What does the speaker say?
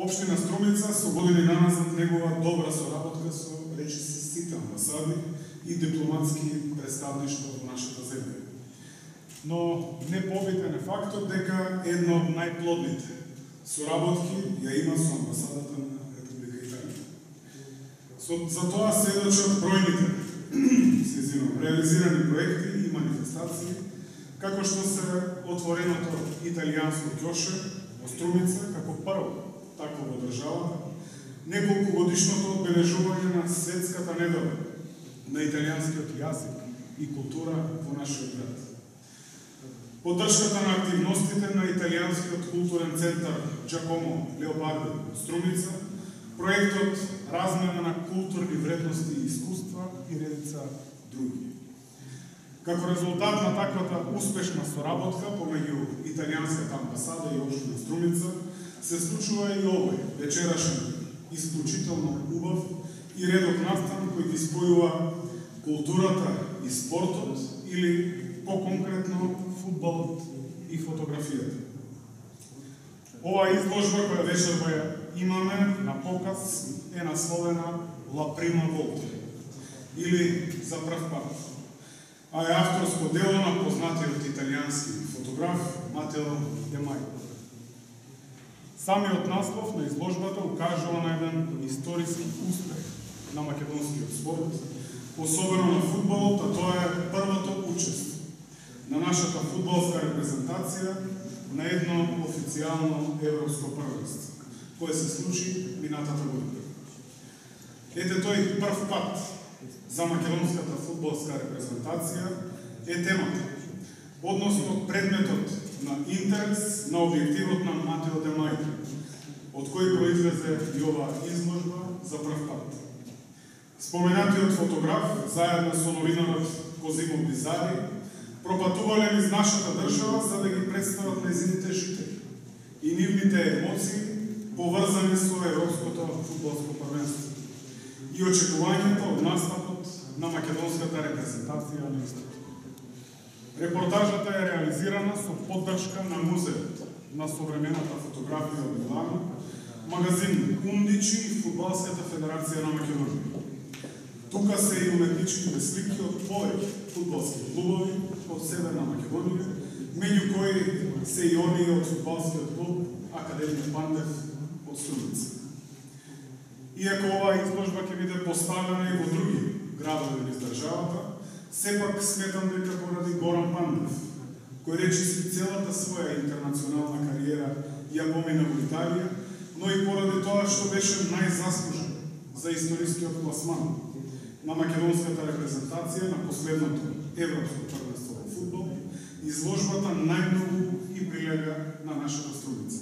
Општина Струмица со години наназад негова добра соработка со речиси сите амбасади и дипломатски представништва во нашата земја. Но не побитен е фактот дека една од најплодните соработки ја има со амбасадата на Република Италија. За тоа сведочат бројните реализирани проекти и манифестации, како што се отвореното италијанско ќоше во Струмица како прво такво во државата, неколку годишното одбележување на светската недела на италијанскиот јазик и култура во нашиот град. Поддршката на активностите на италијанскиот културен центар Джакомо Леопарди во Струмица, проектот размена на културни вредности и искуства и редица други. Како резултат на таквата успешна соработка помеѓу италијанската амбасада и општина Струмица, се случува и овој вечерашен исклучително убав и редок настан кој ги спојува културата и спортот или по-конкретно фудбалот и фотографијата. Оваа изложба која вечерва ја имаме на показ е насловена La Prima Volta или За прв пат, а е авторско дело на познатиот италијански фотограф Матео Де Мајо. Самиот наслов на изложбата укажува на еден историски успех на македонскиот спорт, особено на фудбалот, а тоа е првото учество на нашата фудбалска репрезентација на едно официјално европско првенство, кое се случи минатата година. Ете тој прв пат за македонската фудбалска репрезентација е темата, односно предметот на интерес на објективот на Матео Де Мајо, од кој произлезе и оваа изложба за прв пат. Споменатиот фотограф, заедно со новинарот Козимо Бизари, пропатувале низ нашата држава за да ги представат нејзините жители и нивните емоции поврзани со европското фудбалско првенство и очекувањето од настапот на македонската репрезентација на истото. Репортажата е реализирана со поддршка на Музеот на современата фотографија од Милано, магазин Ундичи и Фудбалската федерација на Македонија. Тука се и уметничките слики од повеќе фудбалски клубови од Северна Македонија, меѓу кои се и оние од фудбалскиот клуб Академија Пандев од Струмица. Иако оваа изложба ќе биде поставена и во други градови низ државата, сепак сметам дека поради Горан Пандев, кој речиси целата своја интернационална кариера ја помина во Италија, но и поради тоа што беше најзаслужен за историскиот пласман на македонската репрезентација на последното европско првенство во фудбал, изложбата најмногу и прилега на нашата Струмица.